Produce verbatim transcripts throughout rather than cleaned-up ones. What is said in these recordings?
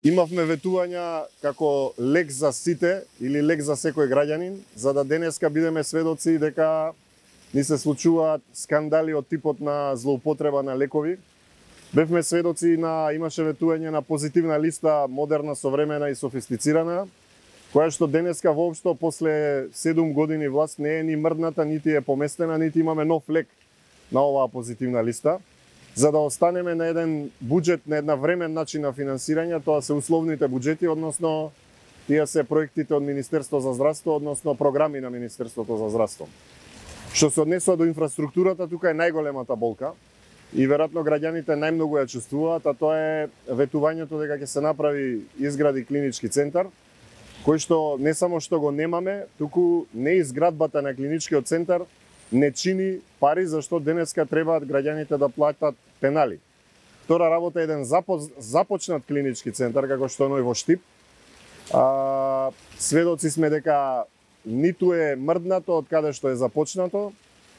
Имавме ветувања како лек за сите или лек за секој граѓанин, за да денеска бидеме сведоци дека ни се случуваат скандали од типот на злоупотреба на лекови. Бевме сведоци на имаше ветување на позитивна листа, модерна, современа и софистицирана, која што денеска воопшто после седум години власт не е ни мрдната, нити е поместена, нити имаме нов лек на оваа позитивна листа. За да останеме на еден буџет, на една времен начин на финансирање, тоа се условните буџети, односно тие се проектите од Министерство за здравство, односно програми на Министерството за здравство. Што се однесува до инфраструктурата, тука е најголемата болка и веројатно граѓаните најмногу ја чувствуваат, а тоа е ветувањето дека ќе се направи изгради клинички центар, кој што не само што го немаме, туку не изградбата на клиничкиот центар не чини пари, зашто денеска требаат граѓаните да платат пенали. Втора работа е еден започнат клинички центар, како што е во Штип. А, сведоци сме дека ниту е мрднато од каде што е започнато,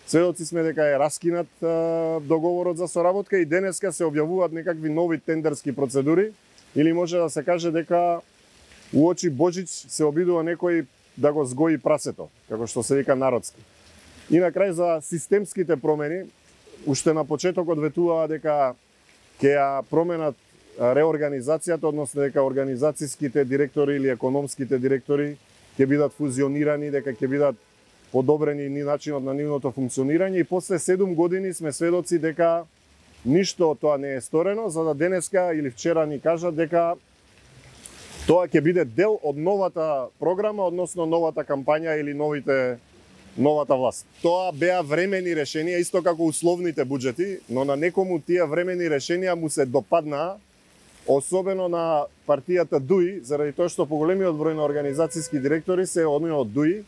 сведоци сме дека е раскинат а, договорот за соработка и денеска се објавуваат некакви нови тендерски процедури, или може да се каже дека уочи Божич се обидува некој да го сгои прасето, како што се вика народски. И на крај за системските промени, уште на почетокот ветуваа дека ќе ја променат реорганизацијата, односно дека организацијските директори или економските директори ќе бидат фузионирани, дека ќе бидат подобрени ни начинот на нивното функционирање, и после седум години сме сведоци дека ништо од тоа не е сторено, за да денеска или вчера ни кажат дека тоа ќе биде дел од новата програма, односно новата кампања или новите новата власт. Тоа беа времени решенија, исто како условните буџети, но на некому тие времени решенија му се допаднаа, особено на партијата ДУИ, заради тоа што поголемиот број на организацијски директори се од од ДУИ,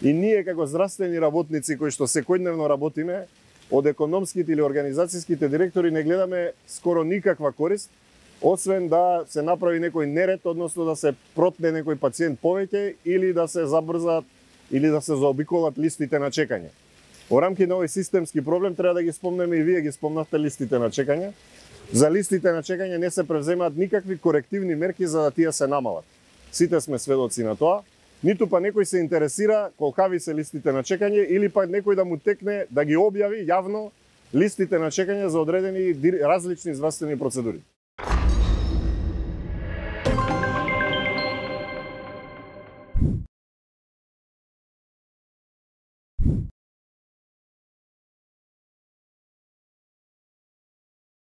и ние како здравствени работници кои што секојдневно работиме, од економските или организацијските директори не гледаме скоро никаква корист, освен да се направи некој неред, односно да се протне некој пациент повеќе или да се забрзат или да се заобиколат листите на чекање. Во рамки на овој системски проблем треба да ги спомнеме, и вие ги спомнавте, листите на чекање. За листите на чекање не се превземаат никакви корективни мерки за да тие се намалат. Сите сме сведоци на тоа. Ниту па некој се интересира колкави се листите на чекање, или па некој да му текне да ги објави јавно листите на чекање за одредени различни здравствени процедури.